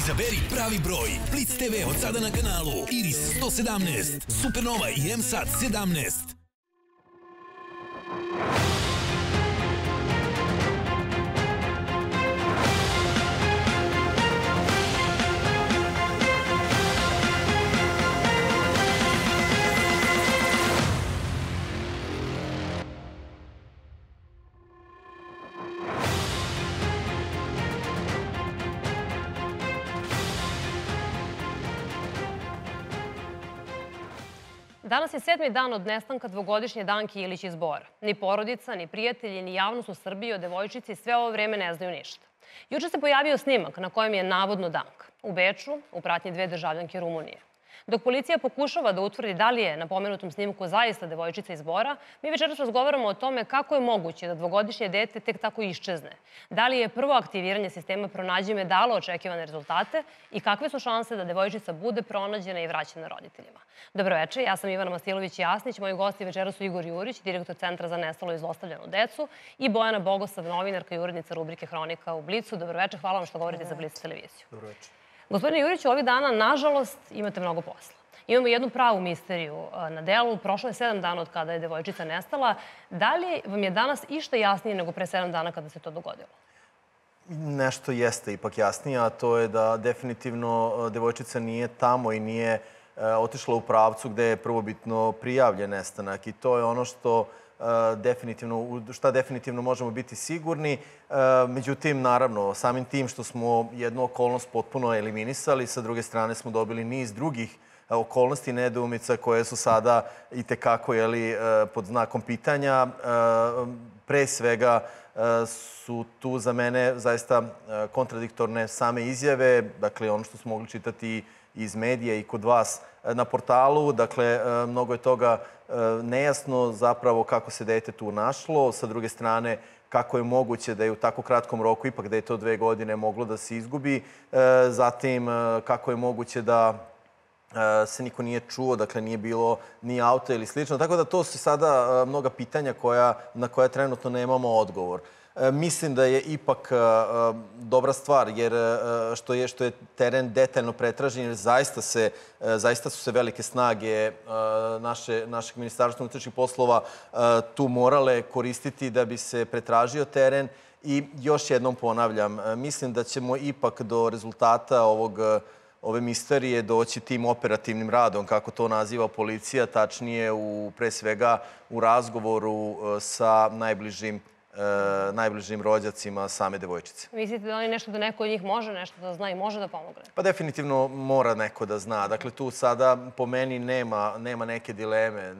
Izaberi pravi broj. Blitz TV od sada na kanalu. Iris 117, Supernova i MSAT 17. Danas je 7. dan od nestanka dvogodišnje Danke Ilić iz Bora. Ni porodica, ni prijatelji, ni javnost u Srbiji o devojčici sve ovo vreme ne znaju ništa. Juče se pojavio snimak na kojem je navodno Danka u Beču u pratnji 2 državljanke Rumunije. Dok policija pokušava da utvrdi da li je na pomenutom snimku zaista devojčica iz Bora, mi večeras razgovaramo o tome kako je moguće da dvogodišnje dete tek tako iščezne. Da li je prvo aktiviranje sistema Pronađi me dalo očekivane rezultate i kakve su šanse da devojčica bude pronađena i vraćena roditeljima. Dobroveče, ja sam Ivana Mastilović-Jasnić, moji gosti večeras su Igor Jurić, direktor Centra za nestalu i zlostavljanu decu, i Bojana Bogosav, novinarka i urednica rubrike Hronika u Blicu. Dobroveče, hvala vam što govorite za Blic televiziju. Dobroveče. Gospodine Juriću, ovih dana, nažalost, imate mnogo posla. Imamo jednu pravu misteriju na delu. Prošlo je 7 dana od kada je devojčica nestala. Da li vam je danas išta jasnije nego pre 7 dana kada se to dogodilo? Nešto jeste ipak jasnije, a to je da definitivno devojčica nije tamo i nije otišla u pravcu gde je prvobitno prijavljen nestanak. I to je ono što definitivno možemo biti sigurni. Međutim, naravno, samim tim što smo jednu okolnost potpuno eliminisali, sa druge strane smo dobili niz drugih okolnosti i nedoumica koje su sada i tekako pod znakom pitanja. Pre svega su tu za mene zaista kontradiktorne same izjave, dakle ono što smo mogli čitati iz medija i kod vas na portalu. Dakle, mnogo je toga nejasno zapravo kako se dete tu našlo. Sa druge strane, kako je moguće da je u tako kratkom roku, ipak da je to 2 godine, moglo da se izgubi. Zatim, kako je moguće da se niko nije čuo, dakle nije bilo ni auta ili slično. Tako da to su sada mnoga pitanja na koja trenutno nemamo odgovor. Mislim da je ipak dobra stvar, jer što je teren detaljno pretražen, jer zaista su se velike snage našeg Ministarstva unutrašnjih poslova tu morale koristiti da bi se pretražio teren. I još jednom ponavljam, mislim da ćemo ipak do rezultata ove misterije doći tim operativnim radom, kako to naziva policija, tačnije pre svega u razgovoru sa najbližim rođacima same devojčice. Mislite da li nešto da neko od njih može nešto da zna i može da pomogne? Pa definitivno mora neko da zna. Dakle, tu sada po meni nema neke dileme.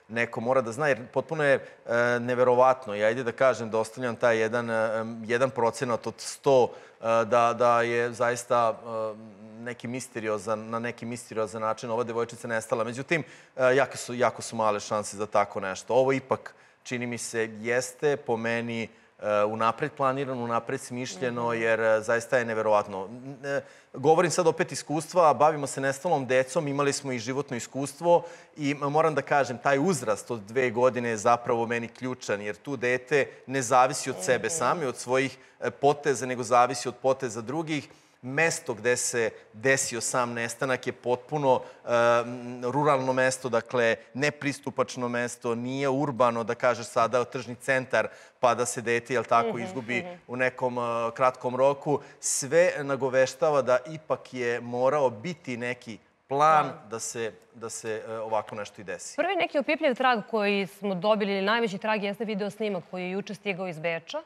Neko mora da zna, jer potpuno je neverovatno. I ajde da kažem, da ostavljam taj 1% od 100 da je zaista na neki misteriozan način ova devojčica nestala. Međutim, jako su male šanse za tako nešto. Ovo ipak, čini mi se, jeste po meni unapred planirano, unapred smišljeno, jer zaista je neverovatno. Govorim sad opet iskustva, bavimo se nestalom decom, imali smo i životno iskustvo i moram da kažem, taj uzrast od 2 godine je zapravo meni ključan, jer tu dete ne zavisi od sebe sami, od svojih poteza, nego zavisi od poteza drugih. Mesto gde se desio sam nestanak je potpuno ruralno mesto, dakle nepristupačno mesto, nije urbano, da kažeš sada tržni centar pa da se dete, izgubi u nekom kratkom roku. Sve nagoveštava da ipak je morao biti neki plan da se ovako nešto i desi. Prvi neki opipljiv trag koji smo dobili, ili najveći trag, jeste video snimak koji je juče stigao iz Beča.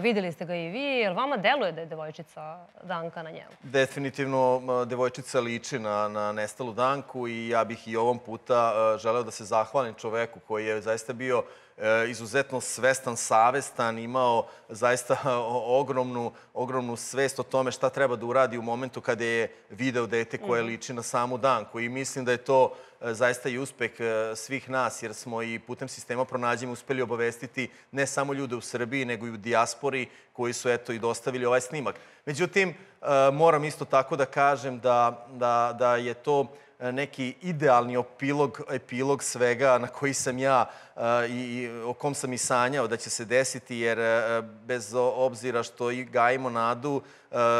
Videli ste ga i vi. Jel vama deluje da je devojčica Danka na njemu? Definitivno devojčica liči na nestalu Danku i ja bih i ovom puta želeo da se zahvalim čoveku koji je zaista bio izuzetno svestan, savestan, imao zaista ogromnu svest o tome šta treba da uradi u momentu kada je video dete koje liči na samu Danku. I mislim da je to zaista i uspeh svih nas, jer smo i putem sistema Pronađi me uspeli obavestiti ne samo ljude u Srbiji, nego i u dijaspori koji su i dostavili ovaj snimak. Međutim, moram isto tako da kažem da je to neki idealni epilog svega na koji sam ja i o kom sam i sanjao da će se desiti, jer bez obzira što i gajimo nadu,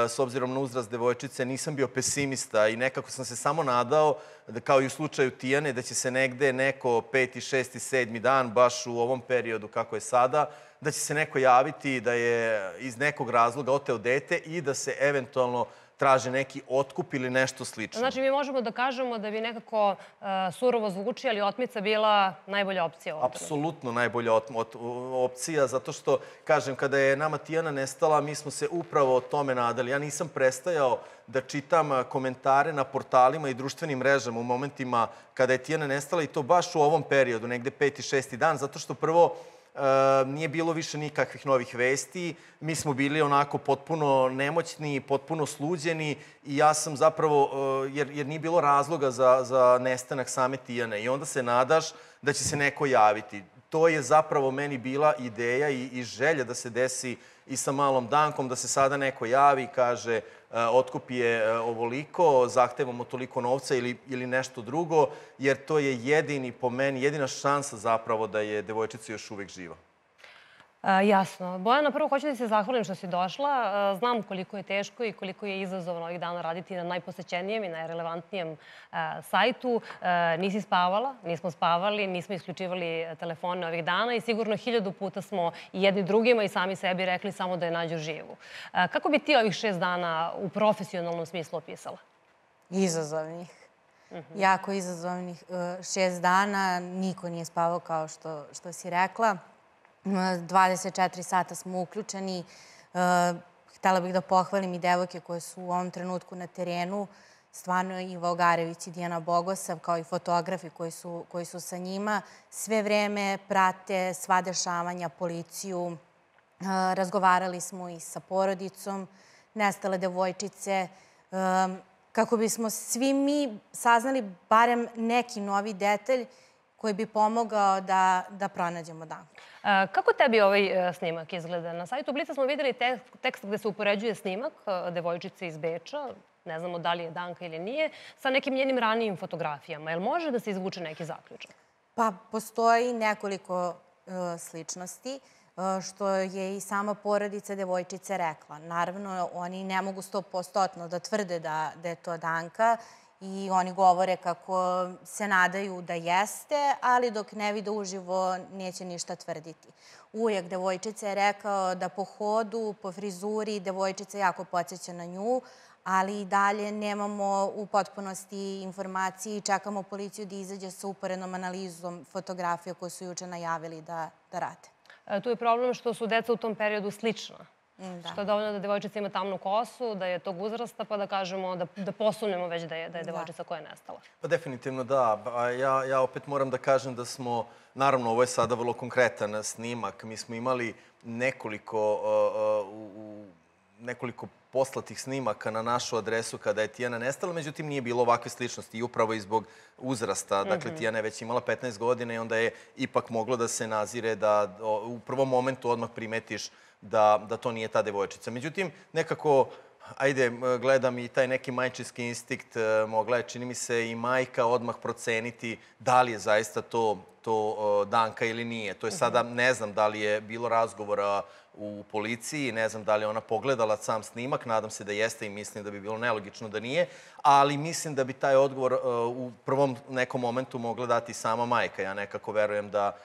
s obzirom na uzrast devojčice, nisam bio pesimista i nekako sam se samo nadao, kao i u slučaju Tijane, da će se negde neko 5., 6., 7. dan, baš u ovom periodu kako je sada, da će se neko javiti da je iz nekog razloga oteo dete i da se eventualno traže neki otkup ili nešto slično. Znači, mi možemo da kažemo da bi nekako surovo zvuči, ali otmica bila najbolja opcija u ovom trenutku. Apsolutno najbolja opcija, zato što, kažem, kada je nama Tijana nestala, mi smo se upravo o tome nadali. Ja nisam prestajao da čitam komentare na portalima i društvenim mrežama u momentima kada je Tijana nestala, i to baš u ovom periodu, negde 5. 6. dan, zato što prvo nije bilo više nikakvih novih vesti. Mi smo bili onako potpuno nemoćni, potpuno sluđeni i ja sam zapravo, jer nije bilo razloga za nestanak same Tijane. I onda se nadaš da će se neko javiti. To je zapravo meni bila ideja i želja da se desi i sa malom Dankom, da se sada neko javi i kaže otkup je ovoliko, zahtevamo toliko novca ili nešto drugo, jer to je jedini, po meni, jedina šansa zapravo da je devojčica još uvek živa. Jasno. Bojana, prvo hoću da se zahvalim što si došla. Znam koliko je teško i koliko je izazovno ovih dana raditi na najposećenijem i najrelevantnijem sajtu. Nisi spavala, nismo spavali, nismo isključivali telefone ovih dana i sigurno 1000 puta smo i jedni drugima i sami sebi rekli samo da je nađu živu. Kako bi ti ovih 6 dana u profesionalnom smislu opisala? Izazovnih. Jako izazovnih 6 dana. Niko nije spavao kao što si rekla. 24 sata smo uključeni. Htela bih da pohvalim i devojke koje su u ovom trenutku na terenu. Stvarno Iva Ogarević i Dijana Bogosav, kao i fotografi koji su sa njima. Sve vreme prate sva dešavanja, policiju. Razgovarali smo i sa porodicom nestale devojčice. Kako bismo svi mi saznali barem neki novi detalj koji bi pomogao da pronađemo Danku. Kako tebi ovaj snimak izgleda? Na sajtu Blica smo videli tekst gde se upoređuje snimak devojčice iz Beča, ne znamo da li je Danka ili nije, sa nekim njenim ranijim fotografijama. Jel može da se izvuče neki zaključak? Pa, postoji nekoliko sličnosti, što je i sama porodica devojčice rekla. Naravno, oni ne mogu 100% da tvrde da je to Danka, i oni govore kako se nadaju da jeste, ali dok ne vide uživo neće ništa tvrditi. Ujak devojčice je rekao da po hodu, po frizuri, devojčica jako podsjeća na nju, ali i dalje nemamo u potpunosti informacije i čekamo policiju da izađe sa uporednom analizom fotografija koje su juče najavili da rade. Tu je problem što su deca u tom periodu slična. Što je dovoljno da devojčica ima tamnu kosu, da je tog uzrasta, pa da kažemo, da posumnjamo već da je devojčica koja je nestala. Pa definitivno da. Ja opet moram da kažem da smo, naravno ovo je sada vrlo konkretan snimak, mi smo imali nekoliko poslatih snimaka na našu adresu kada je Tijana nestala, međutim nije bilo ovakve sličnosti i upravo i zbog uzrasta. Dakle, Tijana je već imala 15 godina i onda je ipak moglo da se nazire da u prvom momentu odmah primetiš da to nije ta devojčica. Međutim, nekako, ajde, gledam i taj neki majčinski instinkt, mogla je, čini mi se, i majka odmah proceniti da li je zaista to Danka ili nije. To je sada, ne znam da li je bilo razgovora u policiji, ne znam da li je ona pogledala sam snimak, nadam se da jeste i mislim da bi bilo nelogično da nije, ali mislim da bi taj odgovor u prvom nekom momentu mogla dati sama majka. Ja nekako verujem da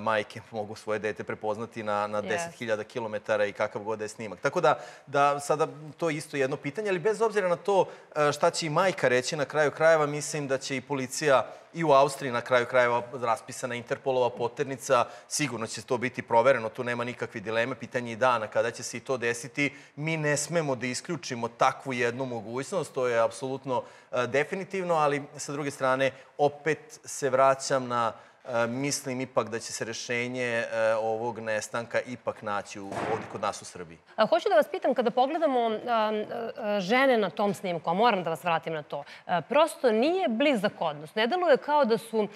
majke mogu svoje dete prepoznati na 10.000 kilometara i kakav god je snimak. Tako da sada to je isto jedno pitanje, ali bez obzira na to šta će i majka reći na kraju krajeva, mislim da će i policija i u Austriji na kraju krajeva raspisana Interpolova poternica, sigurno će to biti provereno, tu nema nikakve dileme, pitanje i dana kada će se i to desiti. Mi ne smemo da isključimo takvu jednu mogućnost, to je apsolutno definitivno, ali sa druge strane opet se vraćam na mislim ipak da će se rešenje ovog nestanka ipak naći ovdje kod nas u Srbiji. Hoću da vas pitam, kada pogledamo žene na tom snimku, a moram da vas vratim na to, prosto nije blizak odnos. Ne deluje kao da su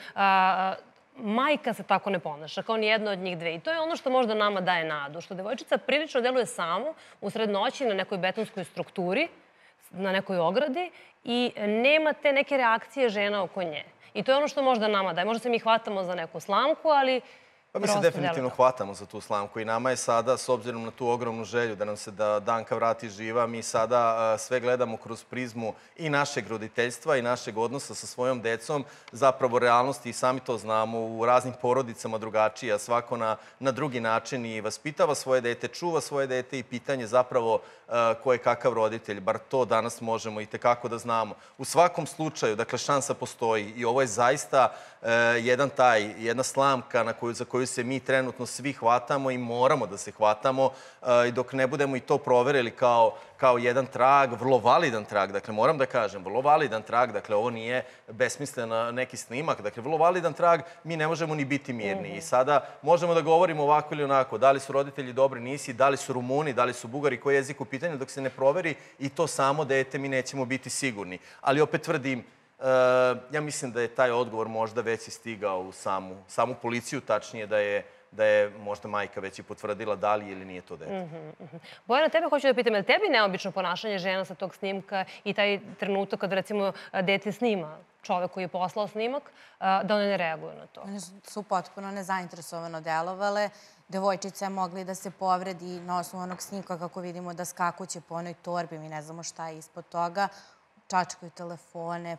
majka se tako ne ponaša, kao ni jedna od njih dve. I to je ono što možda nama daje nadu, što devojčica prilično deluje samo u sred noći na nekoj betonskoj strukturi, na nekoj ogradi i nema te neke reakcije žena oko nje. I to je ono što možda nama daje. Možda se mi hvatamo za neku slamku, ali Pa mi se definitivno hvatamo za tu slamku i nama je sada, s obzirom na tu ogromnu želju da nam se Danka vrati živa, mi sada sve gledamo kroz prizmu i našeg roditeljstva i našeg odnosa sa svojom decom, zapravo realnosti i sami to znamo u raznim porodicama drugačije, a svako na drugi način i vaspitava svoje dete, čuva svoje dete i pitanje zapravo ko je kakav roditelj, bar to danas možemo i tekako da znamo. U svakom slučaju, dakle, šansa postoji i ovo je zaista jedna slamka za koju se mi trenutno svi hvatamo i moramo da se hvatamo i dok ne budemo i to proverili kao jedan trag, vrlo validan trag, dakle, moram da kažem, vrlo validan trag, dakle, ovo nije besmislen neki snimak, dakle, vrlo validan trag, mi ne možemo ni biti mirni. I sada možemo da govorimo ovako ili onako, da li su roditelji dobri, nisi, da li su Rumuni, da li su Bugari, koji je jezik u pitanju, dok se ne proveri i to samo dete, mi nećemo biti sigurni. Ali opet tvrdim, ja mislim da je taj odgovor možda već i stigao u samu policiju, tačnije da je možda majka već i potvrdila da li ili nije to dete. Bojana, tebe hoću da pitam, je li tebi neobično ponašanje žena sa tog snimka i taj trenutak kada, recimo, dete snima čovek koji je poslao snimak, da one ne reaguju na to? One su potpuno nezainteresovano delovale. Devojčica je mogla da se povredi na osnovu onog snimka, kako vidimo da skakuće po onoj torbi, mi ne znamo šta je ispod toga. Čačkaju telefone,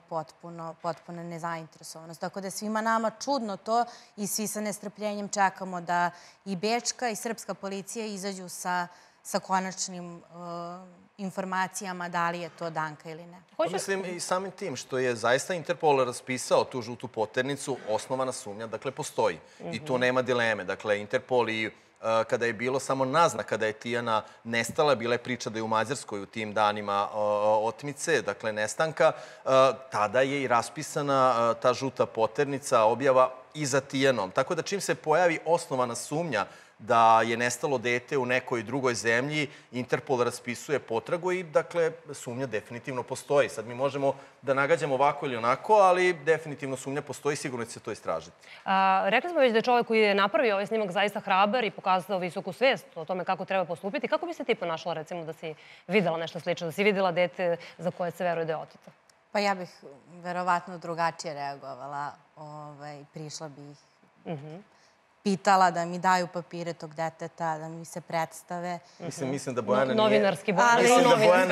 potpuno nezainteresovanost. Tako da je svima nama čudno to i svi sa nestrpljenjem čekamo da i bečka i srpska policija izađu sa konačnim informacijama da li je to Danka ili ne. Mislim i samim tim što je zaista Interpol raspisao tu žutu poternicu, osnovana sumnja, dakle, postoji. I tu nema dileme. Dakle, Interpol i kada je bilo samo naznaka da je Tijana nestala, bila je priča da je u Mađarskoj u tim danima otmice, dakle nestanka, tada je i raspisana ta žuta poternica, objava i za Tijanom. Tako da čim se pojavi osnovana sumnja da je nestalo dete u nekoj drugoj zemlji, Interpol raspisuje potragu i, dakle, sumnja definitivno postoji. Sad mi možemo da nagađamo ovako ili onako, ali definitivno sumnja postoji i sigurno će se to istražiti. Rekli smo već da je čovek koji je napravio ovaj snimak zaista hrabar i pokazao visoku svest o tome kako treba postupiti. Kako bi se ti ponašala, recimo, da si videla nešto slično, da si videla dete za koje se veruje da je oteto? Pa ja bih verovatno drugačije reagovala. Prišla bih pitala da mi daju papire tog deteta, da mi se predstave. Mislim da Bojana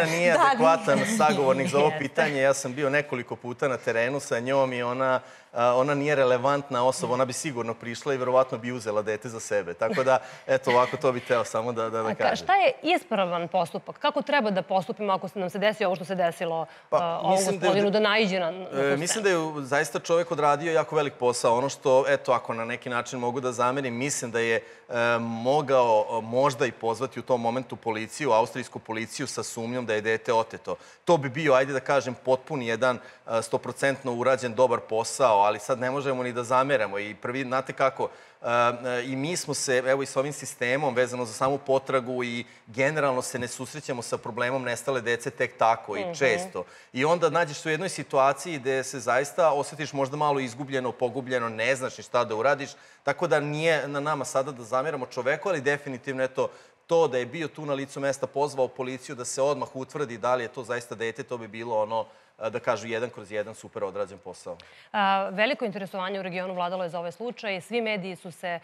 nije adekvatan sagovornik za ovo pitanje. Ja sam bio nekoliko puta na terenu sa njom i ona nije relevantna osoba. Ona bi sigurno prišla i verovatno bi uzela dete za sebe. Tako da, eto, ovako to bih teo samo da kažem. Šta je ispravan postupak? Kako treba da postupimo ako nam se desi ovo što se desilo ovom gospodinu da naiđe na tu Mislim da je zaista čovek odradio jako velik posao. Ono što, eto, ako na neki način mogu da zamerim, mislim da je mogao možda i pozvati u tom momentu policiju, austrijsku policiju sa sumnjom da je dete oteto. To bi bio, ajde da kažem, potpuni jedan 100% urađen dobar posao, ali sad ne možemo ni da zameramo. I prvi, znate kako, i mi smo se, evo i s ovim sistemom vezano za samu potragu i generalno se ne susrećemo sa problemom nestale dece tek tako i često. I onda nađeš se u jednoj situaciji gde se zaista osjetiš možda malo izgubljeno, pogubljeno, ne znaš ni šta da uradiš. Tako da nije na nama sada da zameramo čoveku, ali definitivno, eto, to da je bio tu na licu mesta, pozvao policiju da se odmah utvrdi da li je to zaista dete, to bi bilo ono, da kažu, 1/1 super odrađen posao. Veliko interesovanje u regionu vladalo je za ovaj slučaj. Svi mediji su se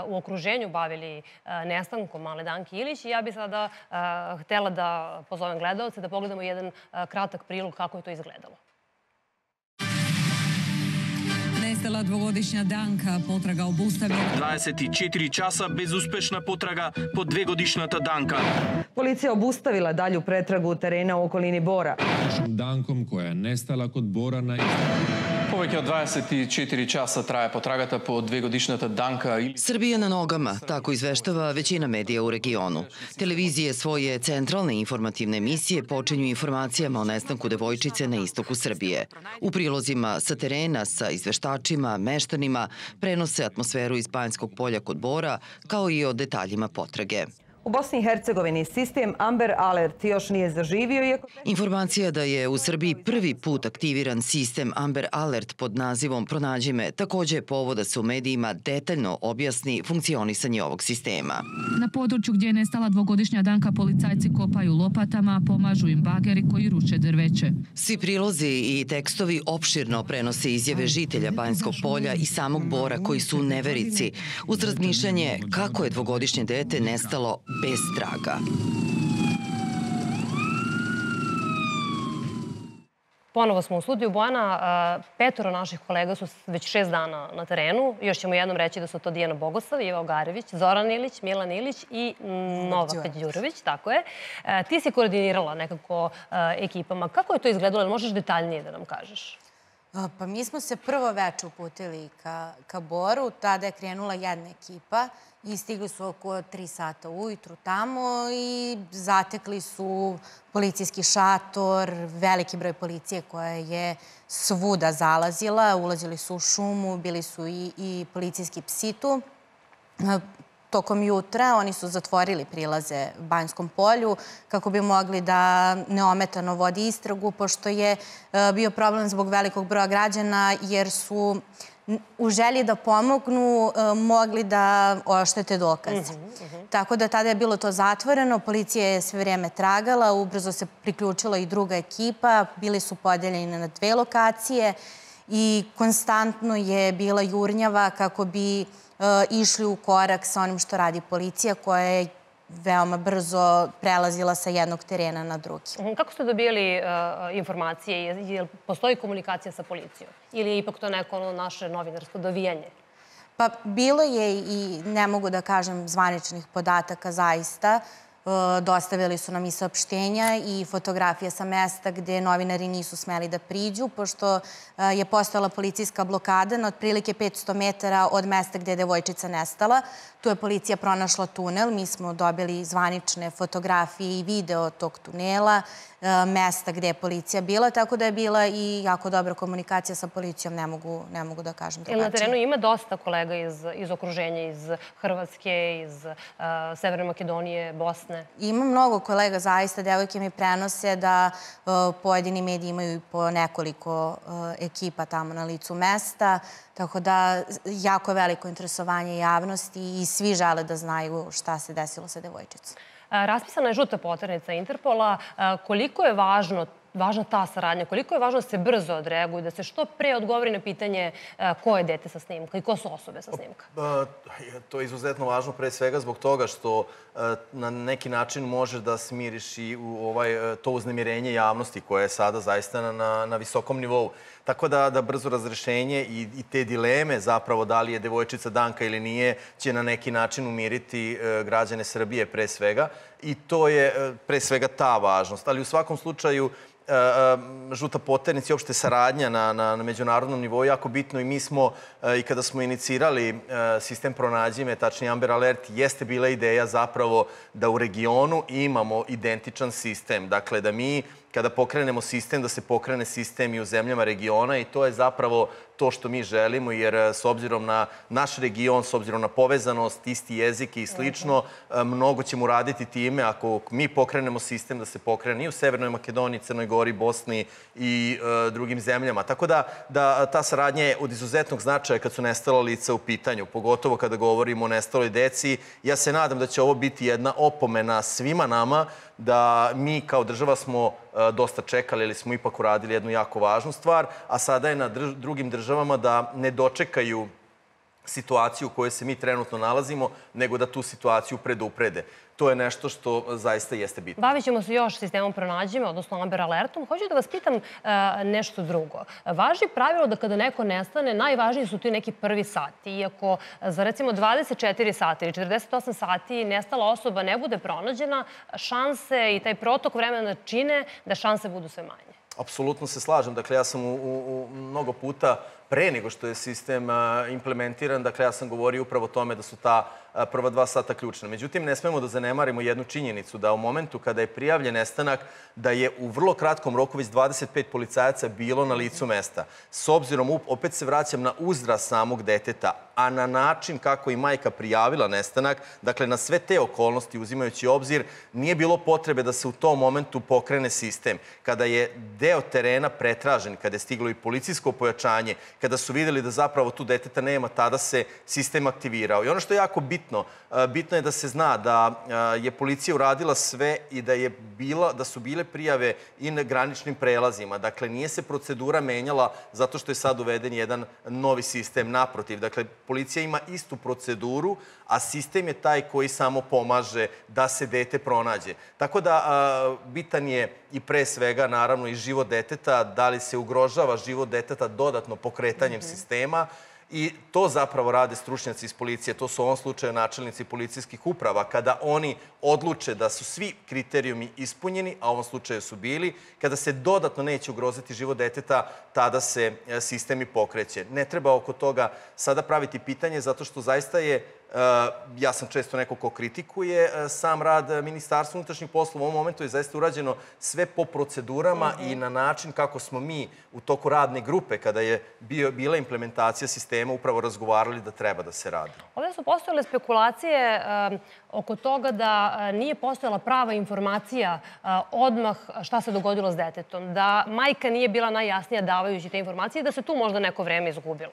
u okruženju bavili nestankom male Danke Ilić i ja bih sada htela da pozovem gledaoce da pogledamo jedan kratak prilog kako je to izgledalo. Nestala dvogodišnja Danka, potraga obustavljena. 24 časa bezuspešna potraga po 2-godišnjata Danka. Policija obustavila dalju pretragu terena u okolini Bora. Dankom koja je nestala kod Bora na Повеќе од 24 часа трае потрагата по 2-годишната Данка Ilić. Srbija na nogama, tako izveštava većina medija u regionu. Televizije svoje centralne informativne emisije počinju informacijama o nestanku devojčice na istoku Srbije. U prilozima sa terena, sa izveštačima, meštanima, prenose atmosferu iz Banjskog polja kod Bora, kao i o detaljima potrage. U Bosni i Hercegovini sistem Amber Alert još nije zaživio, iako... Informacija da je u Srbiji prvi put aktiviran sistem Amber Alert pod nazivom Pronađi me također je povod da se u medijima detaljno objasni funkcionisanje ovog sistema. Na području gdje je nestala dvogodišnja Danka policajci kopaju lopatama, pomažu im bageri koji ruče drveće. Svi prilozi i tekstovi opširno prenose izjave žitelja Banjskog polja i samog Bora koji su u neverici, uz razmišljanje kako je dvogodišnje dete nestalo bez traga. Ponovo smo u studiju Bojana. 5 naših kolega su već 6 dana na terenu. Još ćemo jednom reći da su to Dijana Bogosav, Iva Ogarević, Zoran Ilić, Milan Ilić i Novak Đurović. Tako je. Ti si koordinirala nekako ekipama. Kako je to izgledalo? Možeš detaljnije da nam kažeš? Pa mi smo se prvo veče uputili ka Boru. Tada je krenula jedna ekipa i stigli su oko 3 sata ujutru tamo i zatekli su policijski šator, veliki broj policije koja je svuda zalazila. Ulazili su u šumu, bili su i policijski psi tu. Tokom jutra oni su zatvorili prilaze Banjskom polju kako bi mogli da neometano vodi istragu, pošto je bio problem zbog velikog broja građana, jer su u želji da pomognu mogli da oštete dokaze. Tako da tada je bilo to zatvoreno, policija je sve vrijeme tragala, ubrzo se priključila i druga ekipa, bili su podeljeni na 2 lokacije i konstantno je bila jurnjava kako bi išli u korak sa onim što radi policija, koja je veoma brzo prelazila sa jednog terena na drugi. Kako ste dobijali informacije? Jel postoji komunikacija sa policijom? Ili je ipak to neko naše novinarsko dovijanje? Pa bilo je i, ne mogu da kažem, zvaničnih podataka zaista. Dostavili su nam i saopštenja i fotografije sa mesta gde novinari nisu smeli da priđu, pošto je postojala policijska blokada na otprilike 500 metara od mesta gde je devojčica nestala. Tu je policija pronašla tunel. Mi smo dobili zvanične fotografije i video tog tunela, mesta gde je policija bila, tako da je bila i jako dobra komunikacija sa policijom, ne mogu da kažem drugačije. Na terenu ima dosta kolega iz okruženja, iz Hrvatske, iz Severne Makedonije, Bosne? Ima mnogo kolega, zaista. Devojke mi prenose da pojedini mediji imaju po nekoliko ekipa tamo na licu mesta, tako da jako veliko interesovanje javnosti i svi žele da znaju šta se desilo sa devojčicom. Raspisana je žuta poternica Interpola. Koliko je važna ta saradnja? Koliko je važno da se brzo odreaguju, da se što pre odgovori na pitanje ko je dete sa snimka i ko su osobe sa snimka? To je izuzetno važno pre svega zbog toga što na neki način možeš da smiriš i to uznemirenje javnosti koje je sada zaista na visokom nivou. Tako da brzo razrešenje i te dileme zapravo da li je devojčica Danka ili nije će na neki način umiriti građane Srbije pre svega. I to je pre svega ta važnost. Ali u svakom slučaju žuta poternica i uopšte saradnja na međunarodnom nivou je jako bitno i mi smo, i kada smo inicirali sistem Pronađi me, tačnije Amber Alert, jeste bila ideja zapravo da u regionu imamo identičan sistem. Dakle, da mi kada pokrenemo sistem, da se pokrene sistem i u zemljama regiona i to je zapravo to što mi želimo, jer s obzirom na naš region, s obzirom na povezanost, isti jezik i slično, mnogo ćemo raditi time ako mi pokrenemo sistem da se pokrene i u Severnoj Makedoniji, Crnoj Gori, Bosni i drugim zemljama. Tako da ta saradnja je od izuzetnog značaja kad su nestala lica u pitanju, pogotovo kada govorimo o nestaloj deci. Ja se nadam da će ovo biti jedna opomena svima nama da mi kao država smo dosta čekali, ali smo ipak uradili jednu jako važnu stvar, a sada je na drugim državama da ne dočekaju situaciju u kojoj se mi trenutno nalazimo, nego da tu situaciju preduprede. To je nešto što zaista jeste bitno. Bavit ćemo se još sistemom Pronađi me, odnosno Amber Alertom. Hoću da vas pitam nešto drugo. Važi pravilo da kada neko nestane, najvažniji su ti neki prvi sati. Iako za recimo 24 sata ili 48 sati nestala osoba ne bude pronađena, šanse i taj protok vremena čine da šanse budu sve manje. Apsolutno se slažem. Dakle, ja sam u mnogo puta pre nego što je sistem implementiran, dakle, ja sam govorio upravo o tome da su ta prva 2 sata ključna. Međutim, ne smemo da zanemarimo jednu činjenicu, da u momentu kada je prijavljen nestanak, da je u vrlo kratkom roku već 25 policajaca bilo na licu mesta. S obzirom, opet se vraćam na uzrast samog deteta, a na način kako i majka prijavila nestanak, dakle, na sve te okolnosti, uzimajući obzir, nije bilo potrebe da se u tom momentu pokrene sistem. Kada je deo terena pretražen, kada je stiglo i policijsko pojačanje, kada su videli da zapravo tu deteta nema, tada se sistem aktivirao. I ono što je jako bitno je da se zna da je policija uradila sve i da su bile prijave i na graničnim prelazima. Dakle, nije se procedura menjala zato što je sad uveden jedan novi sistem. Naprotiv, dakle, policija ima istu proceduru, a sistem je taj koji samo pomaže da se dete pronađe. Tako da, bitan je i pre svega, naravno, i život deteta, da li se ugrožava život deteta dodatno pokretanjem sistema. I to zapravo rade stručnjaci iz policije. To su u ovom slučaju načelnici policijskih uprava. Kada oni odluče da su svi kriterijumi ispunjeni, a u ovom slučaju su bili, kada se dodatno neće ugroziti život deteta, tada se sistem i pokreće. Ne treba oko toga sada praviti pitanje, zato što zaista je, ja sam često neko ko kritikuje sam rad Ministarstva unutrašnjih poslova. U ovom momentu je zaista urađeno sve po procedurama i na način kako smo mi u toku radne grupe, kada je bila implementacija sistema, upravo razgovarali da treba da se radi. Ovdje su postojale spekulacije oko toga da nije postojala prava informacija odmah šta se dogodilo s detetom, da majka nije bila najjasnija davajući te informacije i da se tu možda neko vreme izgubilo.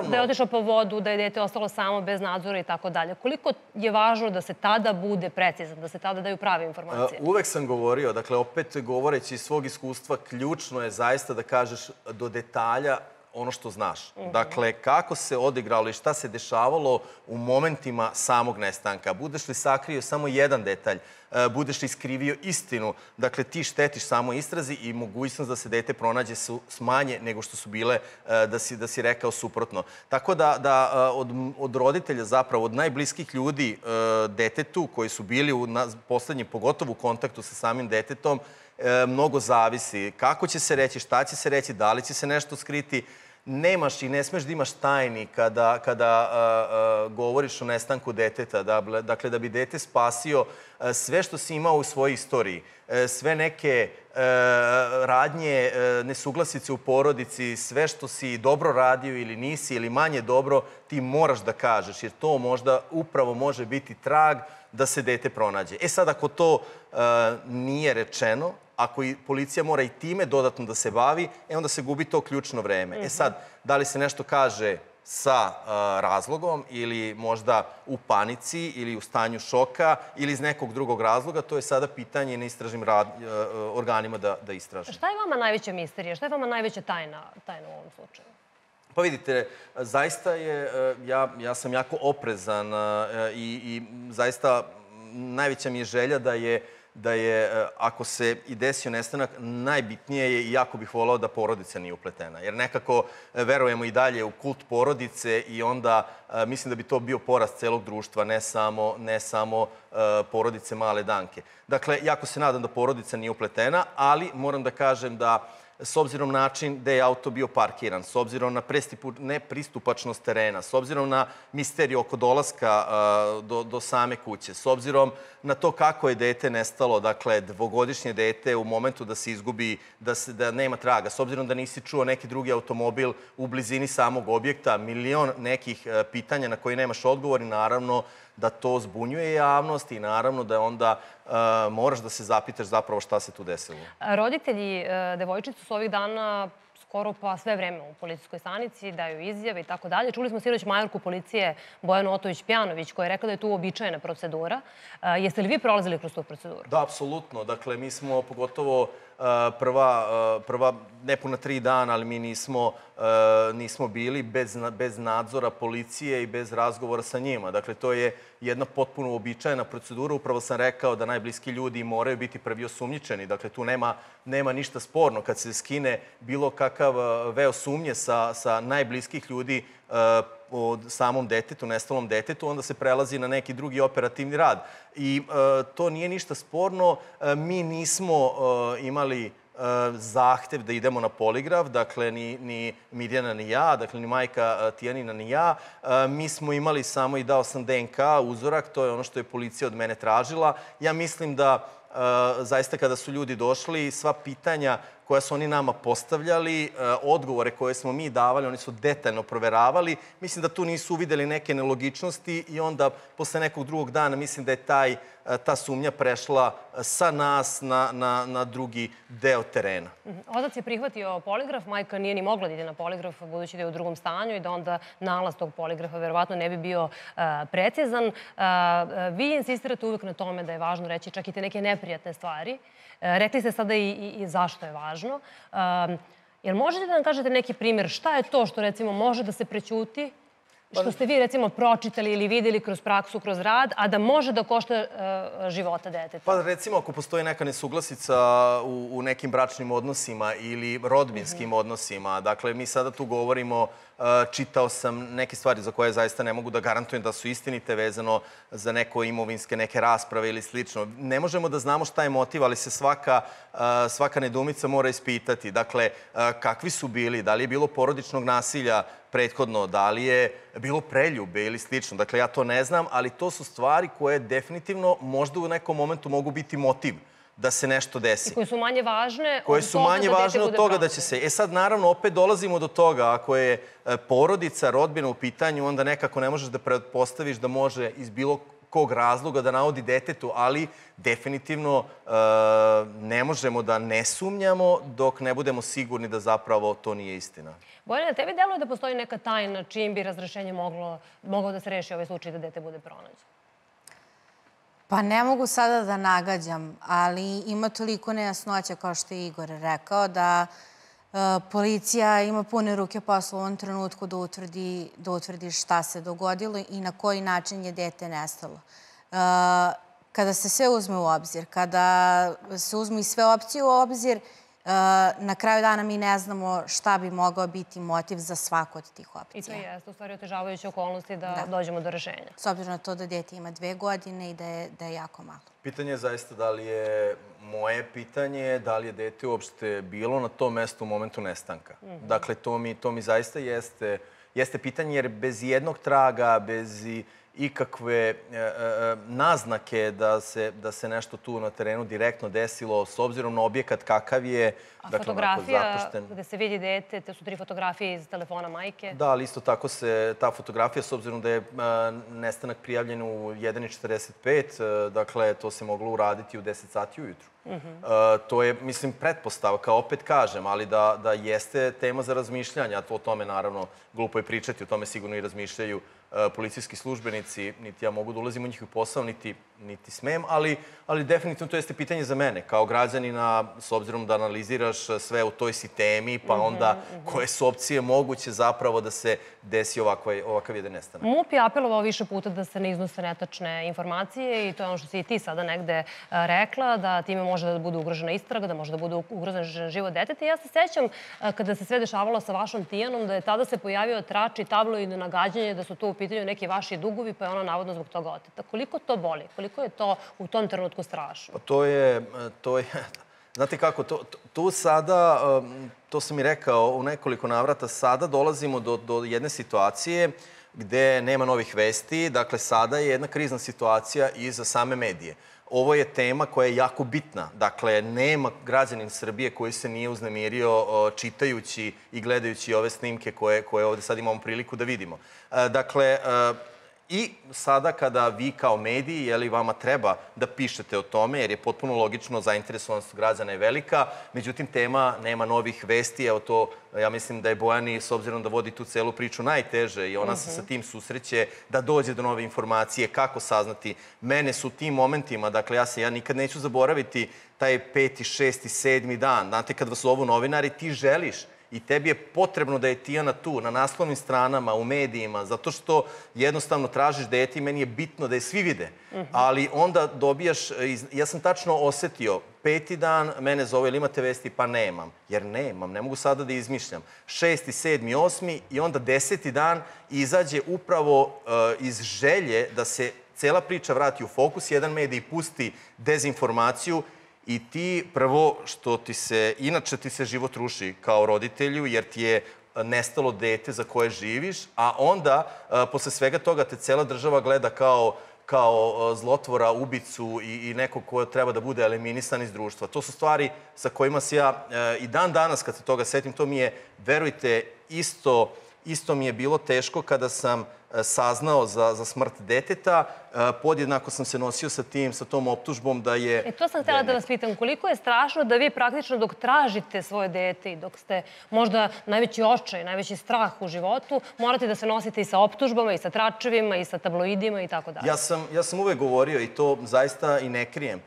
Da je otišao po vodu, da je dete ostalo samo bez nadzora i tako dalje. Koliko je važno da se tada bude precizan, da se tada daju prave informacije? Uvek sam govorio, dakle, opet govoreći iz svog iskustva, ključno je zaista da kažeš do detalja ono što znaš. Dakle, kako se odigralo i šta se dešavalo u momentima samog nestanka. Budeš li sakrio samo jedan detalj, budeš li iskrivio istinu, dakle, ti štetiš samo istrazi i mogućnost da se dete pronađe su manje nego što su bile da si rekao suprotno. Tako da od roditelja, zapravo od najbliskih ljudi detetu koji su bili u poslednjem, pogotovo u kontaktu sa samim detetom, mnogo zavisi. Kako će se reći, šta će se reći, da li će se nešto skriti. Nemaš i ne smeš da imaš tajni kada govoriš o nestanku deteta. Dakle, da bi dete spasio sve što si imao u svojoj istoriji, sve neke radnje, nesuglasice u porodici, sve što si dobro radio ili nisi ili manje dobro, ti moraš da kažeš, jer to možda upravo može biti trag da se dete pronađe. E sad, ako to nije rečeno, ako i policija mora i time dodatno da se bavi, onda se gubi to ključno vreme. E sad, da li se nešto kaže sa razlogom ili možda u panici ili u stanju šoka ili iz nekog drugog razloga, to je sada pitanje na istražnim organima da istraže. Šta je vama najveća misterija? Šta je vama najveća tajna u ovom slučaju? Pa vidite, zaista je, ja sam jako oprezan i zaista najveća mi je želja da je, ako se i desio nestanak, najbitnije je i jako bih volao da porodica nije upletena. Jer nekako verujemo i dalje u kult porodice i onda mislim da bi to bio porast celog društva, ne samo porodice Male Danke. Dakle, jako se nadam da porodica nije upletena, ali moram da kažem da s obzirom na način gde je auto bio parkiran, s obzirom na nepristupačnost terena, s obzirom na misteriju oko dolaska do same kuće, s obzirom na to kako je dete nestalo, dakle, dvogodišnje dete u momentu da se izgubi, da nema traga, s obzirom da nisi čuo neki drugi automobil u blizini samog objekta, milion nekih pitanja na koji nemaš odgovor i naravno da to zbunjuje javnost i naravno da onda moraš da se zapitaš zapravo šta se tu desilo. Roditelji devojčice su ovih dana skoro pa sve vreme u policijskoj stanici, daju izjave i tako dalje. Čuli smo sinoć majorku policije Bojanu Otović-Pjanović koja je rekla da je tu uobičajena procedura. Jeste li vi prolazili kroz tu proceduru? Da, apsolutno. Dakle, mi smo pogotovo prva nepuna 3 dana, ali mi nismo bili bez nadzora policije i bez razgovora sa njima. Dakle, to je jedna potpuno uobičajena procedura. Upravo sam rekao da najbliski ljudi moraju biti prvi osumnjičeni. Dakle, tu nema ništa sporno. Kad se skine bilo kakav veo sumnje sa najbliskih ljudi o samom detetu, nestalom detetu, onda se prelazi na neki drugi operativni rad. I to nije ništa sporno. Mi nismo imali zahtev da idemo na poligraf, dakle ni Mirjana ni ja, dakle ni majka Tijanina ni ja. Mi smo imali samo i dao sam DNK uzorak, to je ono što je policija od mene tražila. Ja mislim da zaista kada su ljudi došli, sva pitanja koja su oni nama postavljali, odgovore koje smo mi davali, oni su detaljno proveravali. Mislim da tu nisu uvideli neke nelogičnosti i onda posle nekog drugog dana mislim da je ta sumnja prešla sa nas na drugi deo terena. Otac je prihvatio poligraf, majka nije ni mogla da ide na poligraf budući da je u drugom stanju i da onda nalaz tog poligrafa verovatno ne bi bio precizan. Vi insistirate uvek na tome da je važno reći čak i te neke neprijatne stvari. Rekli ste sada i zašto je važno. Jel možete da nam kažete neki primjer šta je to što recimo može da se prećuti, što ste vi recimo pročitali ili videli kroz praksu, kroz rad, a da može da košta života deteta? Pa recimo ako postoji neka nesuglasica u nekim bračnim odnosima ili rodbinskim odnosima, dakle mi sada tu govorimo, čitao sam neke stvari za koje zaista ne mogu da garantujem da su istinite vezano za neko imovinske, neke rasprave ili slično. Ne možemo da znamo šta je motiv, ali se svaka nedoumica mora ispitati. Dakle, kakvi su bili, da li je bilo porodičnog nasilja prethodno, da li je bilo preljube ili slično. Dakle, ja to ne znam, ali to su stvari koje definitivno možda u nekom momentu mogu biti motiv da se nešto desi. I koje su manje važne od toga da će se... Sad, naravno, opet dolazimo do toga. Ako je porodica, rodbina u pitanju, onda nekako ne možeš da pretpostaviš da može iz bilo kog razloga da navodi detetu, ali definitivno ne možemo da ne sumnjamo dok ne budemo sigurni da zapravo to nije istina. Bojana, tebi deluje da postoji neka tajna čijim bi razrešenje moglo da se reši ovaj slučaj da dete bude pronađeno? Pa ne mogu sada da nagađam, ali ima toliko nejasnoća, kao što je Igor rekao, da policija ima pune ruke posla u ovom trenutku da utvrdi šta se dogodilo i na koji način je dete nestalo. Kada se sve uzme u obzir, kada se uzme i sve opcije u obzir, na kraju dana mi ne znamo šta bi mogao biti motiv za svaku od tih opcija. I to jeste u stvari otežavajuće okolnosti da dođemo do rešenja. S obzirom na to da dete ima 2 godine i da je jako malo. Pitanje je zaista da li je moje pitanje, da li je dete uopšte bilo na tom mestu u momentu nestanka. Dakle, to mi zaista jeste pitanje, jer bez jednog traga, bez ikakve naznake da se nešto tu na terenu direktno desilo, s obzirom na objekat kakav je. A fotografija gde se vidi dete, te su 3 fotografije iz telefona majke? Da, ali isto tako se ta fotografija, s obzirom da je nestanak prijavljen u 1:45, dakle, to se moglo uraditi u 10 sati ujutru. To je, mislim, pretpostavka, opet kažem, ali da jeste tema za razmišljanje, a o tome, naravno, glupo je pričati, o tome sigurno i razmišljaju policijski službenici, niti ja mogu da ulazim u njihov posao, niti smem, ali definitivno to jeste pitanje za mene, kao građanina, s obzirom da analiziraš sve u toj si temi, pa onda koje su opcije moguće zapravo da se desi ovakav jedan nestanak. MUP je apelovao više puta da se ne iznose netačne informacije i to je ono što si i ti sada negde rekla, da time može da bude ugrožena istraga, da može da bude ugrožen život deteta. Ja se sećam kada se sve dešavalo sa vašom Tijanom, da je tada se pojavio trač i tabloidno nagađanje da su to u pitanju neki vaši dugovi, pa je ona navodno zbog toga oteta. Koliko to boli? Koliko je to u tom trenutku strašno? Pa to je... Znate kako, tu sada, to sam i rekao u nekoliko navrata, sada dolazimo do jedne situacije gde nema novih vesti. Dakle, sada je jedna krizna situacija i za same medije. Ovo je tema koja je jako bitna. Dakle, nema građanin Srbije koji se nije uznemirio čitajući i gledajući ove snimke koje ovde sad imamo priliku da vidimo. Dakle, i sada kada vi kao mediji, vama treba da pišete o tome, jer je potpuno logično, zainteresovanost građana je velika, međutim, tema nema novih vesti. Evo to, ja mislim da je Bojani, s obzirom da vodi tu celu priču, najteže i ona se sa tim susreće da dođe do nove informacije, kako saznati. Mene su tim momentima, dakle, ja nikad neću zaboraviti taj 5., 6., 7. dan. Znate, kad vas zovu novinari, ti želiš i tebi je potrebno da je Tijana tu, na naslovnim stranama, u medijima, zato što jednostavno tražiš dete i meni je bitno da je svi vide. Ali onda dobijaš, ja sam tačno osetio, 5. dan mene zove, ili imate vesti? Pa nemam. Jer nemam, ne mogu sada da izmišljam. 6., 7., 8. i onda 10. dan izađe upravo iz želje da se cela priča vrati u fokus, jedan medij pusti dezinformaciju I ti prvo što inače ti se život ruši kao roditelju jer ti je nestalo dete za koje živiš, a onda posle svega toga te cela država gleda kao zlotvora, ubicu i nekog ko treba da bude eliminisan iz društva. To su stvari sa kojima se ja i dan danas kad se toga setim, to mi je, verujte, isto mi je bilo teško kada sam saznao za smrt deteta. Podjednako sam se nosio sa tom optužbom da je... To sam htjela da vas pitam. Koliko je strašno da vi praktično dok tražite svoje dete i dok ste možda najveći očaj, najveći strah u životu, morate da se nosite i sa optužbama, i sa tračevima, i sa tabloidima i tako dalje. Ja sam uvek govorio i to zaista i ne krijem.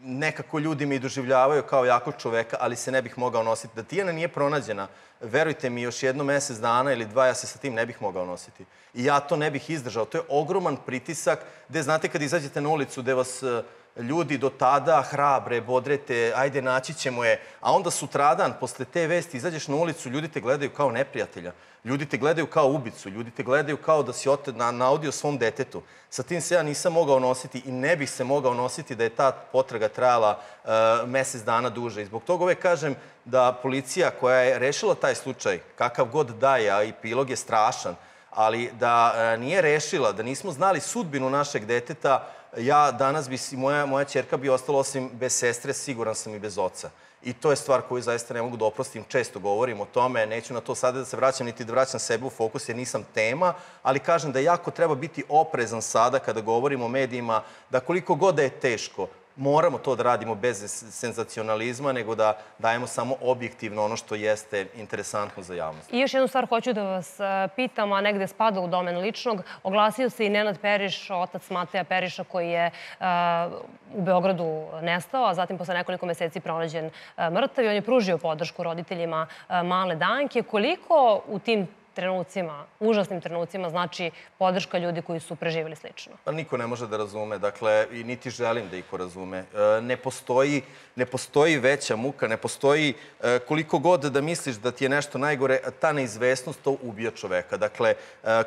Nekako ljudi mi doživljavaju kao jakog čoveka, ali se ne bih mogao nositi. Da Tijana nije pronađena, verujte mi, još jedno mesec dana ili dva, ja se sa tim ne bih mogao nositi. I ja to ne bih izdržao. To je ogroman pritisak gde, znate, kad izađete na ulicu, gde vas ljudi do tada hrabre, bodrete, ajde, naći ćemo je, a onda sutradan, posle te vesti, izađeš na ulicu, ljudi te gledaju kao neprijatelja. Ljudi te gledaju kao ubicu, ljudi te gledaju kao da si naudio svom detetu. Sa tim se ja nisam mogao nositi i ne bih se mogao nositi da je ta potraga trajala mesec dana duže. I zbog toga uvek kažem da policija koja je rešila taj slučaj, kakav god da je, a epilog je strašan, ali da nije rešila, da nismo znali sudbinu našeg deteta, ja danas bi, moja ćerka bi ostala osim bez sestre, siguran sam i bez oca. I to je stvar koju zaista ne mogu da oprostim. Često govorim o tome, neću na to sada da se vraćam, niti da vraćam sebe u fokus jer nisam tema, ali kažem da jako treba biti oprezan sada kada govorimo o medijima, da koliko god da je teško, moramo to da radimo bez senzacionalizma, nego da dajemo samo objektivno ono što jeste interesantno za javnost. I još jednu stvar hoću da vas pitam, a negde spada u domen ličnog. Oglasio se i Nenad Periš, otac Mateja Periša, koji je u Beogradu nestao, a zatim posle nekoliko meseci pronađen mrtav i on je pružio podršku roditeljima male Danke. Koliko u tim trenucima, užasnim trenucima, znači podrška ljudi koji su preživjeli slično? Pa niko ne može da razume, dakle, i niti želim da iko razume. Ne postoji veća muka, ne postoji koliko god da misliš da ti je nešto najgore, ta neizvesnost to ubija čoveka. Dakle,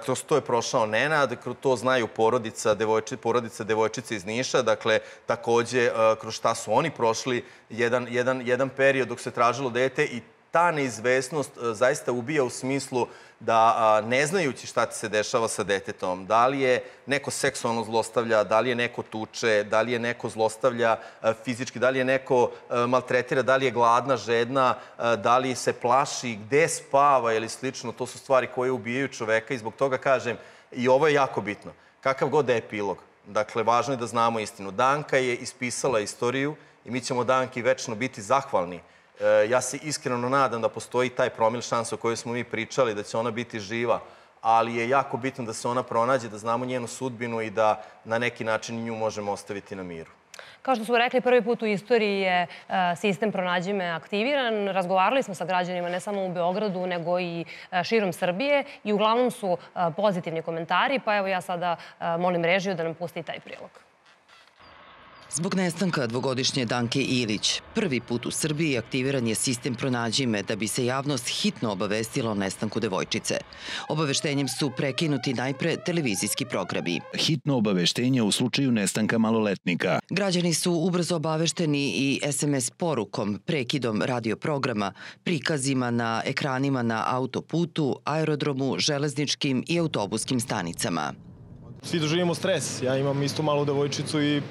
kroz to je prošao Nenad, kroz to znaju porodica devojčice iz Niša, dakle, takođe, kroz šta su oni prošli jedan period dok se tražilo dete i ta neizvesnost zaista ubija u smislu da ne znajući šta ti se dešava sa detetom, da li je neko seksualno zlostavlja, da li je neko tuče, da li je neko zlostavlja fizički, da li je neko maltretira, da li je gladna, žedna, da li se plaši, gde spava ili slično, to su stvari koje ubijaju čoveka i zbog toga kažem, i ovo je jako bitno, kakav god da je epilog. Dakle, važno je da znamo istinu. Danka je ispisala istoriju i mi ćemo Danki večno biti zahvalni. Ja se iskreno nadam da postoji taj promil šansa o kojoj smo mi pričali, da će ona biti živa, ali je jako bitno da se ona pronađe, da znamo njenu sudbinu i da na neki način nju možemo ostaviti na miru. Kao što smo rekli, prvi put u istoriji je sistem Pronađi me aktiviran. Razgovarali smo sa građanima ne samo u Beogradu, nego i širom Srbije i uglavnom su pozitivni komentari, pa evo ja sada molim režiju da nam pusti taj prilog. Zbog nestanka dvogodišnje Danke Ilić, prvi put u Srbiji aktiviran je sistem Pronađi me da bi se javnost hitno obavestila o nestanku devojčice. Obaveštenjem su prekinuti najpre televizijski programi. Hitno obaveštenje u slučaju nestanka maloletnika. Građani su ubrzo obavešteni i SMS porukom, prekidom radioprograma, prikazima na ekranima na autoputu, aerodromu, železničkim i autobuskim stanicama. Svi doživimo stres. Ja imam isto malu devojčicu i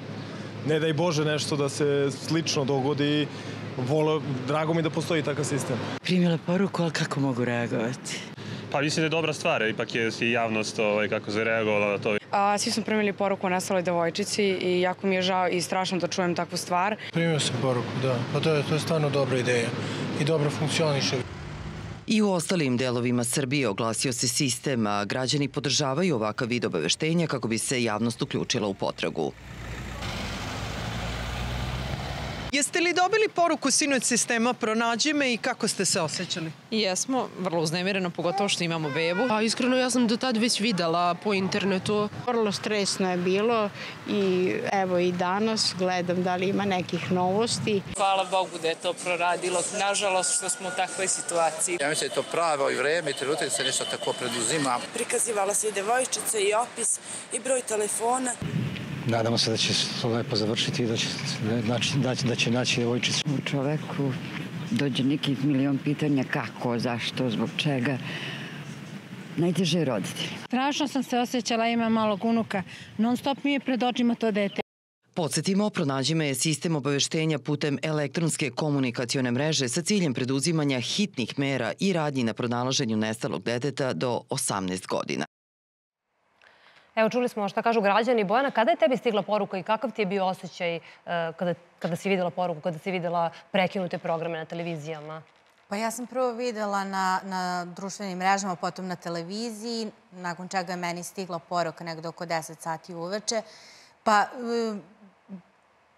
ne daj Bože nešto da se slično dogodi. Drago mi da postoji takav sistem. Primila poruku, ali kako mogu reagovati? Pa mislim da je dobra stvar, ipak je i javnost kako se reagovala na to. Svi smo primili poruku o nestaloj devojčici i jako mi je žao i strašno da čujem takvu stvar. Primio sam poruku, da. Pa to je stvarno dobra ideja i dobro funkcioniše. I u ostalim delovima Srbije oglasio se sistem, a građani podržavaju ovakav vid obaveštenja kako bi se javnost uključila u potragu. Jeste li dobili poruku sinoć sistema Pronađi me i kako ste se osjećali? Jesmo, vrlo uznemireno, pogotovo što imamo bebu. Iskreno, ja sam do tad već videla po internetu. Vrlo stresno je bilo i evo i danas gledam da li ima nekih novosti. Hvala Bogu da je to proradilo. Nažalost što smo u takvoj situaciji. Ja mislim da je to pravo i vreme i trenutak se nešto tako preduzima. Prikazivala se i devojčica i opis i broj telefona. Nadamo se da će to lepo završiti i da će naći devojčicu. U čoveku dođe neki milion pitanja kako, zašto, zbog čega. Najteže je roditelji. Strašno sam se osjećala, imam malog unuka. Non stop mi je pred očima to dete. Podsjetimo, Pronađime je sistem obaveštenja putem elektronske komunikacione mreže sa ciljem preduzimanja hitnih mera i radnji na pronalaženju nestalog deteta do 18 godina. Evo, čuli smo šta kažu građani. Bojana, kada je tebi stigla poruka i kakav ti je bio osjećaj kada si videla poruku, kada si videla prekinute programe na televizijama? Pa ja sam prvo videla na društvenim mrežama, potom na televiziji, nakon čega je meni stigla poruka nekdo oko 10 sati uveče. Pa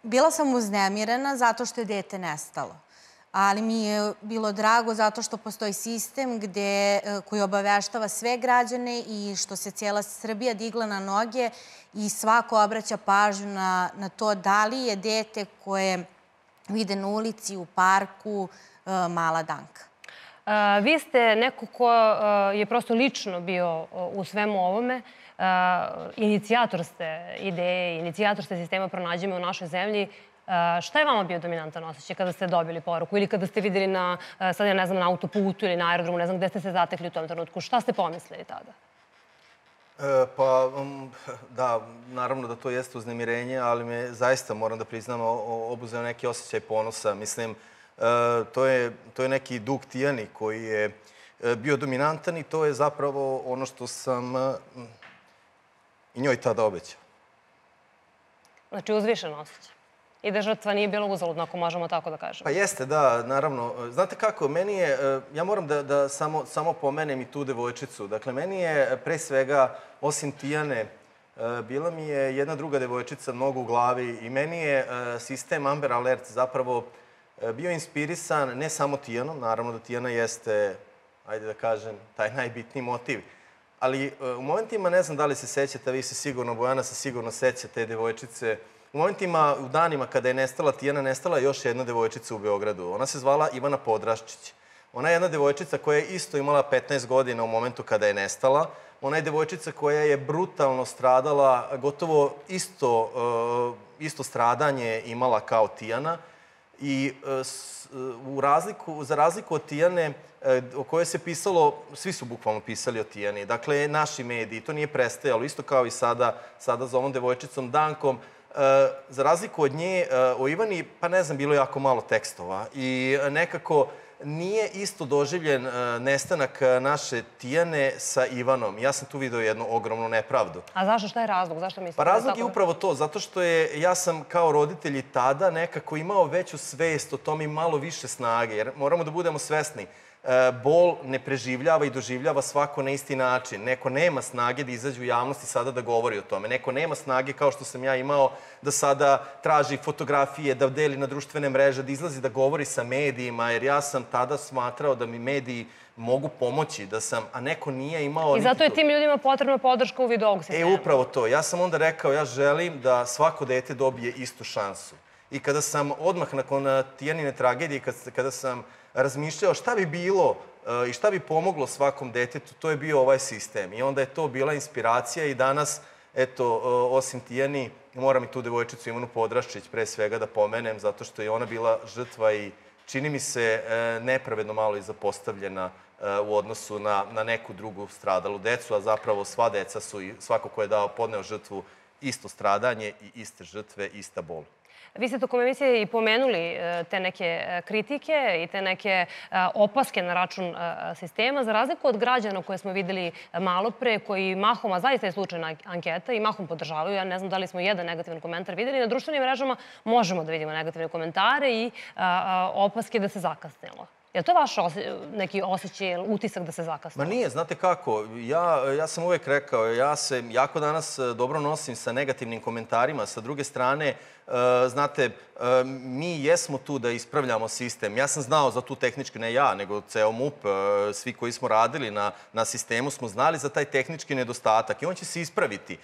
bila sam uznemirena zato što je dete nestalo. Ali mi je bilo drago zato što postoji sistem koji obaveštava sve građane i što se cijela Srbija digla na noge i svako obraća pažnju na to da li je dete koje vide na ulici, u parku, mala Danka. Vi ste neko ko je prosto lično bio u svemu ovome. Inicijator ste ideje, inicijator ste sistema Pronađime u našoj zemlji. Šta je vama bio dominantan osjećaj kada ste dobili poruku ili kada ste videli sad ja ne znam, na autoputu ili na aerodromu, ne znam gde ste se zatekli u tom trenutku? Šta ste pomislili tada? Pa, da, naravno da to jeste uznemirenje, ali me zaista, moram da priznam, obuzeo neki osjećaj ponosa. Mislim, to je neki Duk Tijani koji je bio dominantan i to je zapravo ono što sam i njoj tada obećao. Znači, uzvišen osjećaj. I da žrtva nije bila uzaludna, ako možemo tako da kažemo. Pa jeste, da, naravno. Znate kako, meni je, ja moram da samo pomenem i tu devojčicu. Dakle, meni je pre svega, osim Tijane, bila mi je jedna druga devojčica mnogo u glavi i meni je sistem Amber Alert zapravo bio inspirisan ne samo Tijanom, naravno da Tijana jeste, ajde da kažem, taj najbitniji motiv. Ali u momentima, ne znam da li se sećate, vi se sigurno, Bojana se sigurno seća te devojčice. U momentima, u danima kada je nestala Tijana, nestala je još jedna devojčica u Beogradu. Ona se zvala Ivana Podraščić. Ona je jedna devojčica koja je isto imala 15 godina u momentu kada je nestala. Ona je devojčica koja je brutalno stradala, gotovo isto stradanje imala kao Tijana. I za razliku od Tijane, o kojoj se pisalo, svi su bukvalno pisali o Tijani. Dakle, naši mediji, to nije prestajalo, isto kao i sada za ovom devojčicom Dankom. Za razliku od nje, o Ivani, pa ne znam, bilo je jako malo tekstova i nekako nije isto doživljen nestanak naše Tijane sa Ivanom. Ja sam tu vidio jednu ogromnu nepravdu. A zašto? Šta je razlog? Zašto mislite? Pa razlog je upravo to, zato što ja sam kao roditelj i tada nekako imao veću svest o tom i malo više snage, jer moramo da budemo svesni. Bol ne preživljava i doživljava svako na isti način. Neko nema snage da izađe u javnost i sada da govori o tome. Neko nema snage, kao što sam ja imao, da sada traži fotografije, da deli na društvene mreže, da izlazi da govori sa medijima, jer ja sam tada smatrao da mi mediji mogu pomoći, a neko nije imao... I zato je tim ljudima potrebna podrška u vidu ovog sistema. Upravo to. Ja sam onda rekao, ja želim da svako dete dobije istu šansu. I kada sam odmah nakon Tijanine tragedije, kada sam razmišljao šta bi bilo i šta bi pomoglo svakom detetu, to je bio ovaj sistem. I onda je to bila inspiracija i danas, eto, osim Tijani, moram i tu devojčicu Ivanu Podraščić pre svega da pomenem, zato što je ona bila žrtva i čini mi se nepravedno malo i zapostavljena u odnosu na neku drugu stradalu decu, a zapravo sva deca su, svako ko je podneo žrtvu, isto stradanje i iste žrtve, ista bol. Vi ste tokom emisije i pomenuli te neke kritike i te neke opaske na račun sistema, za razliku od građana koje smo videli malo pre, koji mahom, a zaista je slučajna anketa, i mahom podržavaju. Ja ne znam da li smo jedan negativan komentar videli. Na društvenim mrežama možemo da vidimo negativne komentare i opaske da se zakasnilo. Je li to vaš neki osjećaj, utisak da se zakasnilo? Ma nije, znate kako. Ja sam uvek rekao, ja se jako danas dobro nosim sa negativnim komentarima. Sa druge strane, znate, mi jesmo tu da ispravljamo sistem. Ja sam znao za tu tehnički, ne ja, nego ceo MUP, svi koji smo radili na sistemu smo znali za taj tehnički nedostatak i on će se ispraviti.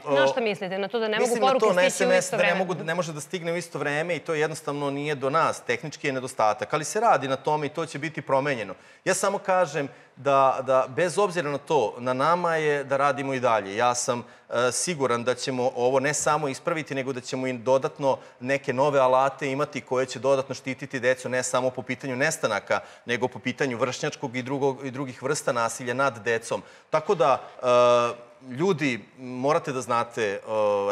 Na šta mislite? Na to da ne mogu poruke stići u isto vreme? Ne može da stigne u isto vreme i to jednostavno nije do nas. Tehnički je nedostatak. Ali se radi na tome. tome i to će biti promenjeno. Ja samo kažem da bez obzira na to, na nama je da radimo i dalje. Ja sam siguran da ćemo ovo ne samo ispraviti, nego da ćemo im dodatno neke nove alate imati koje će dodatno štititi decu, ne samo po pitanju nestanaka, nego po pitanju vršnjačkog i drugih vrsta nasilja nad decom. Tako da, ljudi, morate da znate,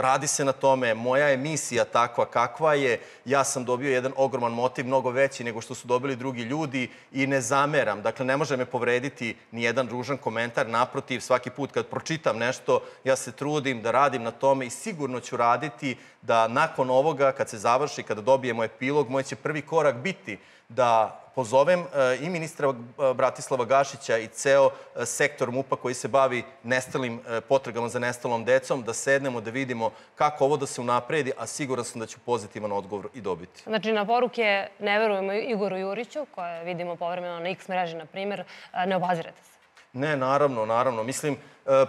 radi se na tome, moja je misija takva kakva je, ja sam dobio jedan ogroman motiv, mnogo veći nego što su dobili drugi ljudi i ne zameram. Dakle, ne može me povrediti ni jedan ružan komentar, naprotiv, svaki put kad pročitam nešto, ja se trudim da radim na tome i sigurno ću raditi da nakon ovoga, kad se završi, kada dobijemo epilog, moj će prvi korak biti da pozovem i ministra Bratislava Gašića i ceo sektor MUP-a koji se bavi potragama za nestalom decom, da sednemo, da vidimo kako ovo da se unapredi, a siguran sam da ću pozitivan odgovor i dobiti. Znači, na poruke ne verujemo Igoru Juriću, koje vidimo povremeno na X mreži, na primjer, ne obazirate se. Ne, naravno. Mislim,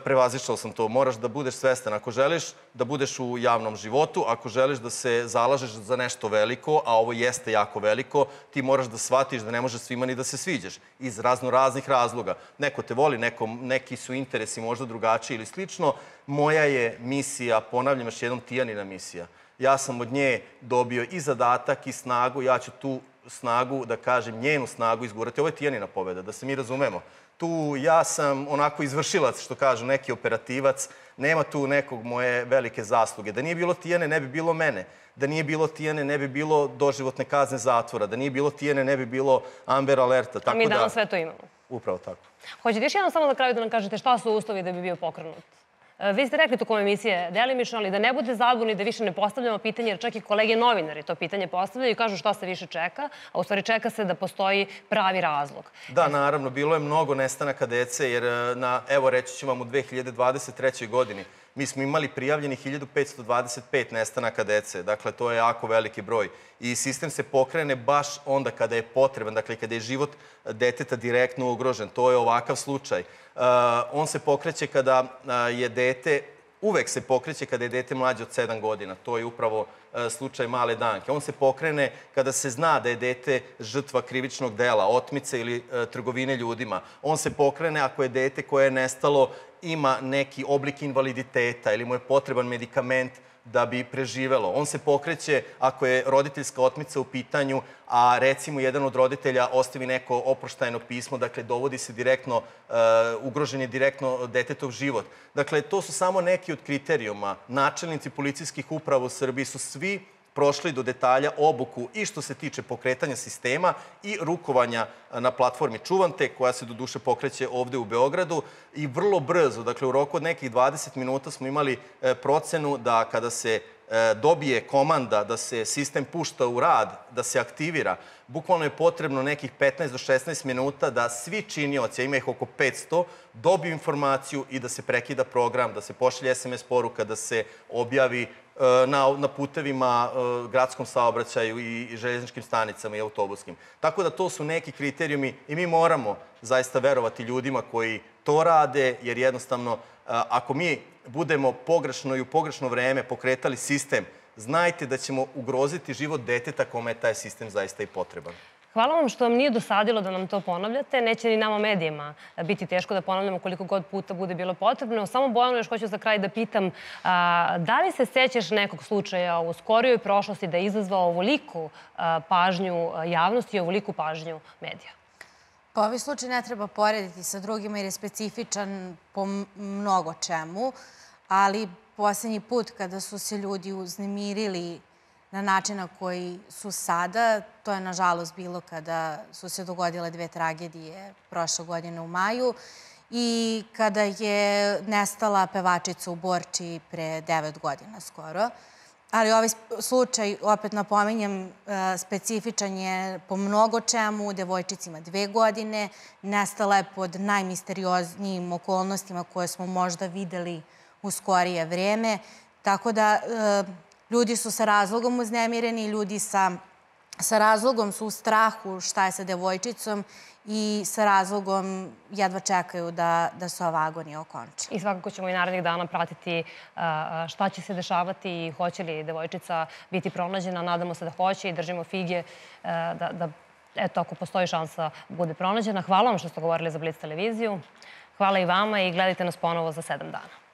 prevazišao sam to. Moraš da budeš svestan. Ako želiš da budeš u javnom životu, ako želiš da se zalažeš za nešto veliko, a ovo jeste jako veliko, ti moraš da shvatiš da ne možeš svima ni da se sviđaš. Iz raznih razloga. Neko te voli, neki su interesi možda drugačiji ili slično. Moja je misija, ponavljam još jednom, Tijanina misija. Ja sam od nje dobio i zadatak i snagu. Ja ću tu snagu, da kažem, njenu snagu izgurati. Ovo je Tijanina pobeda, da se mi razumemo. Tu ja sam onako izvršilac, što kažu, neki operativac. Nema tu nekog moje velike zasluge. Da nije bilo Tijane, ne bi bilo mene. Da nije bilo Tijane, ne bi bilo doživotne kazne zatvora. Da nije bilo Tijane, ne bi bilo Amber Alerta. A mi danas sve to imamo. Upravo tako. Hoćete još jednom samo na kraju da nam kažete šta su uslovi da bi bio pokrenut? Vi ste rekli tokom emisije delimično, ali da ne bude zabuni, da više ne postavljamo pitanje, jer čak i kolege novinari to pitanje postavljaju i kažu šta se više čeka, a u stvari čeka se da postoji pravi razlog. Da, naravno, bilo je mnogo nestanaka dece, jer evo reći ću vam u 2023. godini mi smo imali prijavljenih 1525 nestanaka dece. Dakle, to je jako veliki broj. I sistem se pokrene baš onda kada je potreban, dakle, kada je život deteta direktno ugrožen. To je ovakav slučaj. On se pokreće kada je dete, uvek se pokreće kada je dete mlađe od 7 godina. To je upravo slučaj male Danke. On se pokrene kada se zna da je dete žrtva krivičnog dela, otmice ili trgovine ljudima. On se pokrene ako je dete koje je nestalo ima neki oblik invaliditeta ili mu je potreban medikament da bi preživelo. On se pokreće ako je roditeljska otmica u pitanju, a recimo jedan od roditelja ostavi neko oproštajno pismo, dakle dovodi se direktno, ugrožen je direktno detetov život. Dakle, to su samo neki od kriterijuma. Načelnici policijskih uprava u Srbiji su svi prošli do detalja obuku i što se tiče pokretanja sistema i rukovanja na platformi Čuvante, koja se do duše pokreće ovde u Beogradu. I vrlo brzo, dakle u roku od nekih 20 minuta smo imali procenu da kada se dobije komanda da se sistem pušta u rad, da se aktivira, bukvalno je potrebno nekih 15 do 16 minuta da svi činioci, a ima ih oko 500, dobiju informaciju i da se prekida program, da se pošalje SMS poruka, da se objavi na putevima, gradskom saobraćaju i željezničkim stanicama i autobuskim. Tako da to su neki kriterijumi i mi moramo zaista verovati ljudima koji to rade, jer jednostavno ako mi budemo pogrešno i u pogrešno vreme pokretali sistem, znajte da ćemo ugroziti život deteta kome je taj sistem zaista i potreban. Hvala vam što vam nije dosadilo da nam to ponavljate. Neće ni nama medijima biti teško da ponavljamo koliko god puta bude bilo potrebno. Samo Bojanu još hoću za kraj da pitam, da li se sećaš nekog slučaja u skorijoj prošlosti da je izazvao ovoliku pažnju javnosti i ovoliku pažnju medija? Pa ovaj slučaj ne treba porediti sa drugima jer je specifičan po mnogo čemu, ali poslednji put kada su se ljudi uznemirili na način na koji su sada, to je nažalost bilo kada su se dogodile 2 tragedije prošle godine u maju i kada je nestala pevačica u Borči pre 9 godina skoro. Ali ovaj slučaj, opet napominjem, specifičan je po mnogo čemu. Devojčica ima 2 godine, nestala je pod najmisterioznijim okolnostima koje smo možda videli u skorije vreme. Tako da ljudi su sa razlogom uznemireni, ljudi sa razlogom su u strahu šta je sa devojčicom i sa razlogom jedva čekaju da se ova agonija okonča. I svakako ćemo i narednih dana pratiti šta će se dešavati i hoće li devojčica biti pronađena. Nadamo se da hoće i držimo fige da eto, ako postoji šansa, bude pronađena. Hvala vam što ste govorili za Blitz televiziju. Hvala i vama i gledajte nas ponovo za 7 dana.